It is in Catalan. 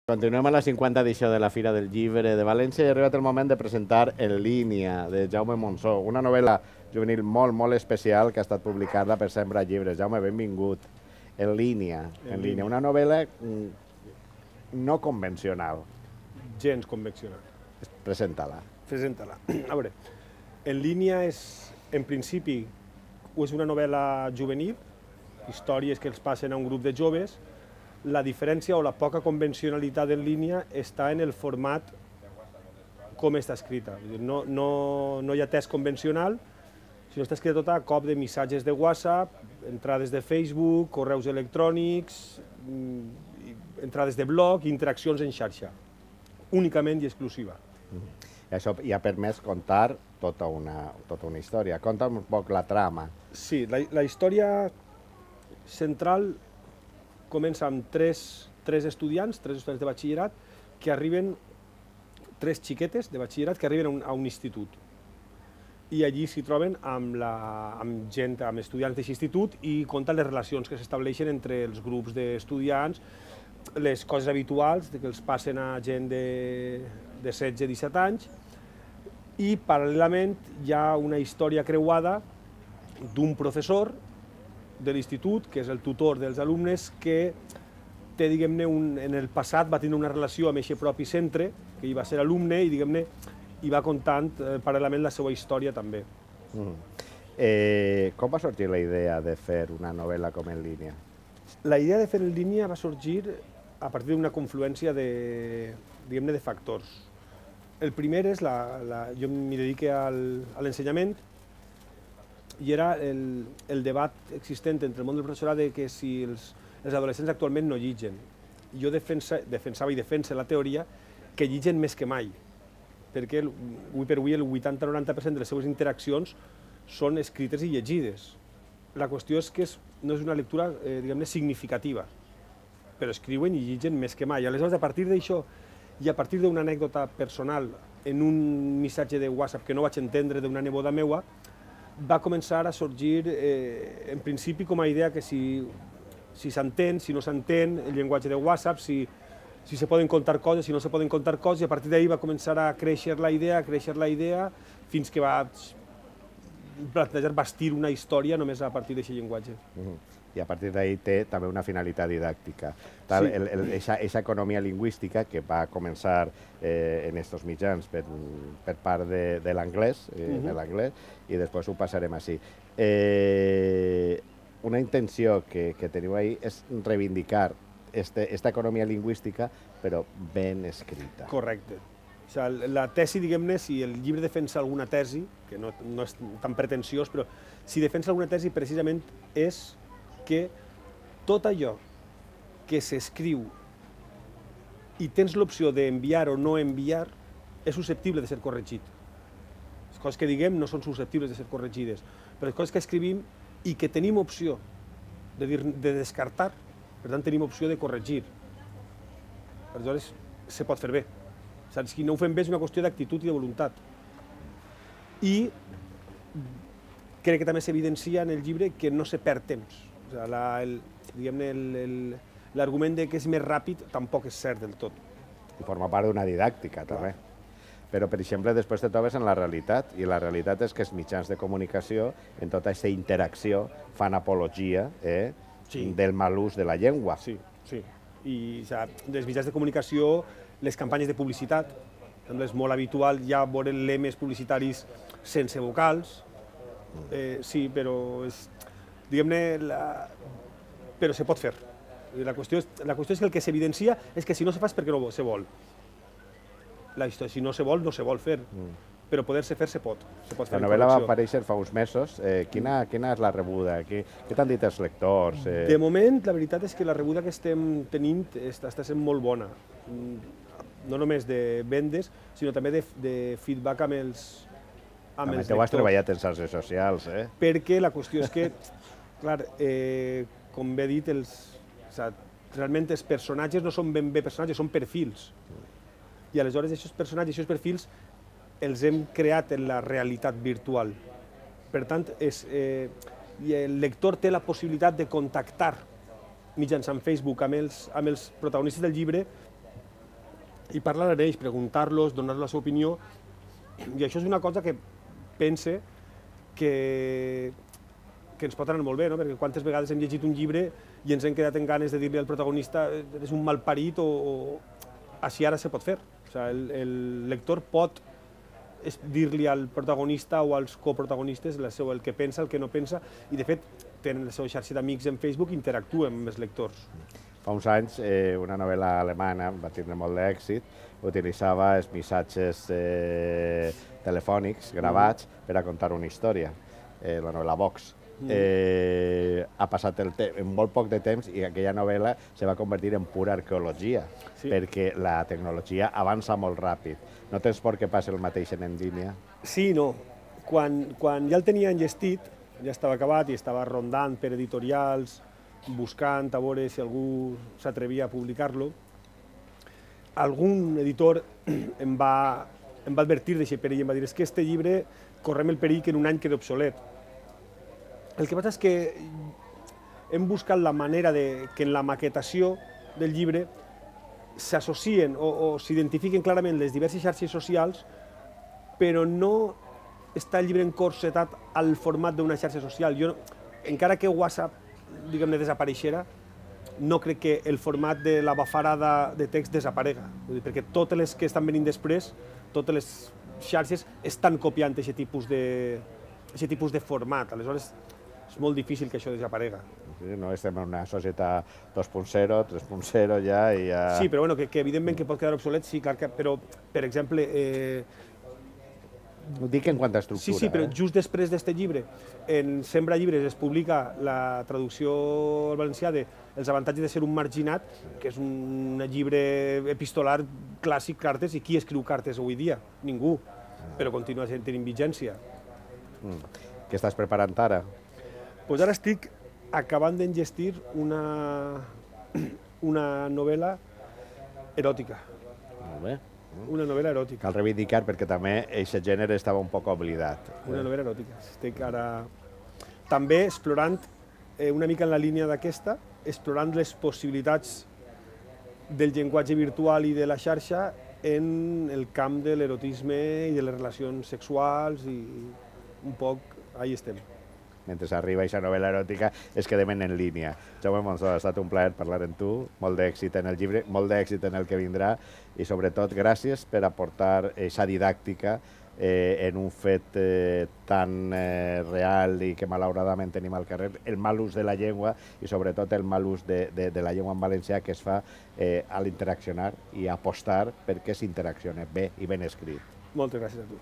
Continuem a la 50 edició de la Fira del Llibre de València i ha arribat el moment de presentar En línia, de Jaume Monsó, una novel·la juvenil molt especial que ha estat publicada per Sembra Llibres. Jaume, benvingut. En línia, una novel·la no convencional. Gens convencional. Presenta-la. Presenta-la. A veure, En línia és, en principi, és una novel·la juvenil, històries que els passen a un grup de joves. La diferència o la poca convencionalitat en línia està en el format com està escrita. No hi ha text convencional, sinó està escrita tota a cop de missatges de WhatsApp, entrades de Facebook, correus electrònics, entrades de blog, interaccions en xarxa, únicament i exclusiva. Això ja ha permès contar tota una història. Conta un poc la trama. Sí, la història central comença amb tres estudiants de batxillerat que arriben, tres xiquetes de batxillerat que arriben a un institut. I allí s'hi troben amb estudiants d'aquest institut i conten les relacions que s'estableixen entre els grups d'estudiants, les coses habituals que els passen a gent de 16-17 anys, i paral·lelament hi ha una història creuada d'un professor de l'institut, que és el tutor dels alumnes, que té, diguem-ne, en el passat va tenir una relació amb aquest propi centre, que hi va ser alumne, i, diguem-ne, hi va contant paral·lelament la seva història també. Com va sorgir la idea de fer una novel·la com En línia? La idea de fer En línia va sorgir a partir d'una confluència de factors. El primer és, jo m'hi dedico a l'ensenyament, i era el debat existent entre el món del professorat de que si els adolescents actualment no llitgen. Jo defensava i defensa la teoria que llitgen més que mai, perquè avui per avui el 80-90% de les seves interaccions són escrites i llegides. La qüestió és que no és una lectura, diguem-ne, significativa, però escriuen i llitgen més que mai. Aleshores, a partir d'això i a partir d'una anècdota personal en un missatge de WhatsApp que no vaig entendre d'una neboda meua, va començar a sorgir, en principi, com a idea que si s'entén, si no s'entén, el llenguatge de WhatsApp, si se poden contar coses, si no se poden contar coses, i a partir d'ahir va començar a créixer la idea, fins que va plantejar bastir una història només a partir d'aquest llenguatge. I a partir d'ahir té també una finalitat didàctica. Aquesta economia lingüística que va començar en aquests mitjans per part de l'anglès, i després ho passarem així. Una intenció que teniu ahir és reivindicar aquesta economia lingüística, però ben escrita. Correcte. La tesi, diguem-ne, si el llibre defensa alguna tesi, que no és tan pretensiós, però si defensa alguna tesi precisament és que tot allò que s'escriu i tens l'opció d'enviar o no enviar és susceptible de ser corregit. Les coses que diguem no són susceptibles de ser corregides, però les coses que escrivim i que tenim opció de descartar, per tant tenim opció de corregir. Aleshores, se pot fer bé. Si no ho fem bé és una qüestió d'actitud i de voluntat. I crec que també s'evidencia en el llibre que no se perd temps. L'argument que és més ràpid tampoc és cert del tot. I forma part d'una didàctica, també. Però, per exemple, després te trobes en la realitat, i la realitat és que els mitjans de comunicació, en tota aquesta interacció, fan apologia del mal ús de la llengua. Sí. I dels mitjans de comunicació, les campanyes de publicitat, és molt habitual ja veure lemes publicitaris sense vocals. Sí, però diguem-ne, però se pot fer. La qüestió és que el que s'evidencia és que si no se fa és perquè no se vol. Si no se vol, no se vol fer. Però poder-se fer, se pot. La novel·la va aparèixer fa uns mesos. Quina és la rebuda? Què t'han dit els lectors? De moment, la veritat és que la rebuda que estem tenint està sent molt bona. No només de vendes, sinó també de feedback amb els lectors. També t'ho has treballat en xarxes socials, Perquè la qüestió és que, clar, com bé he dit, realment els personatges no són ben bé personatges, són perfils. I aleshores aquests personatges, aquests perfils, els hem creat en la realitat virtual. Per tant, el lector té la possibilitat de contactar mitjançant Facebook amb els protagonistes del llibre i parlar amb ells, preguntar-los, donar-los la seva opinió, i això és una cosa que pense que ens pot anar molt bé, no? Perquè quantes vegades hem llegit un llibre i ens hem quedat en ganes de dir-li al protagonista eres un malparit o així ara se pot fer. O sigui, el lector pot dir-li al protagonista o als coprotagonistes el que pensa, el que no pensa, i de fet tenen la seva xarxa d'amics en Facebook i interactuen amb els lectors. Fa uns anys, una novel·la alemana, va tenir molt d'èxit, utilitzava els missatges telefònics gravats per a contar una història, la novel·la Vox. Ha passat en molt poc de temps i aquella novel·la se va convertir en pura arqueologia, perquè la tecnologia avança molt ràpid. No tens por que passi el mateix en línia? Sí i no. Quan ja el tenia enllestit, ja estava acabat i estava rondant per editorials, buscant a veure si algú s'atrevia a publicar-lo, algun editor em va advertir d'aquest perill, em va dir és que este llibre correm el perill que en un any quedi obsolet. El que passa és que hem buscat la manera que en la maquetació del llibre s'associen o s'identifiquen clarament les diverses xarxes socials, però no està el llibre encorsetat al format d'una xarxa social. Jo, encara que WhatsApp, diguem-ne, desapareixera, no crec que el format de la bafarada de text desaparega, perquè totes les que estan venint després, totes les xarxes estan copiant aquest tipus de format. Aleshores, és molt difícil que això desaparega. No estem en una societat 2.0, 3.0 ja i ja... Sí, però bueno, que evidentment que pot quedar obsolet, sí, clar que... Però, per exemple... Ho dic en quant a estructura. Sí, però just després d'este llibre, en Sembra Llibres es publica la traducció al valencià de Els avantatges de ser un marginat, que és un llibre epistolar clàssic, cartes, i qui escriu cartes avui dia? Ningú, però continua tenint vigència. Què estàs preparant ara? Doncs ara estic acabant d'enllestir una novel·la eròtica. Molt bé. Una novel·la eròtica. Cal reivindicar perquè també aquest gènere estava un poc oblidat. Una novel·la eròtica. Estic ara també explorant una mica en la línia d'aquesta, explorant les possibilitats del llenguatge virtual i de la xarxa en el camp de l'erotisme i de les relacions sexuals i un poc ahí estem. Mentre arriba aquesta novel·la eròtica, es quedem en línia. Jaume Monsó, ha estat un plaer parlar amb tu, molt d'èxit en el llibre, molt d'èxit en el que vindrà i sobretot gràcies per aportar aquesta didàctica en un fet tan real i que malauradament tenim al carrer, el mal ús de la llengua i sobretot el mal ús de la llengua en valencià que es fa a l'interaccionar i apostar perquè s'interacciona bé i ben escrit. Moltes gràcies a tu.